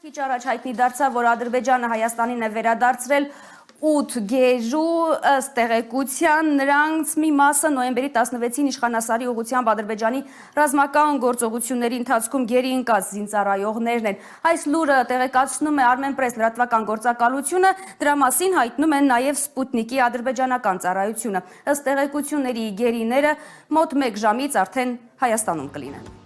Քիչ առաջ հայտնի դարձավ, որ Ադրբեջանը Հայաստանին է վերադարձրել 8 գերու, ըստ տեղեկության նրանց մի մասը նոյեմբերի 16-ին իշխանասարի ուղղությամբ Ադրբեջանի ռազմական գործողությունների ընթացքում գերի ընկած զինծառայողներն են։ Այս լուրը տեղեկացնում է Armenpress լրատվական գործակալությունը, դրա մասին հայտնում են նաև Սպուտնիկի ադրբեջանական ծառայությունը։ Ըստ տեղեկությունների գերիները մոտ 1 ժամից արդեն Հայաստանում կլինեն։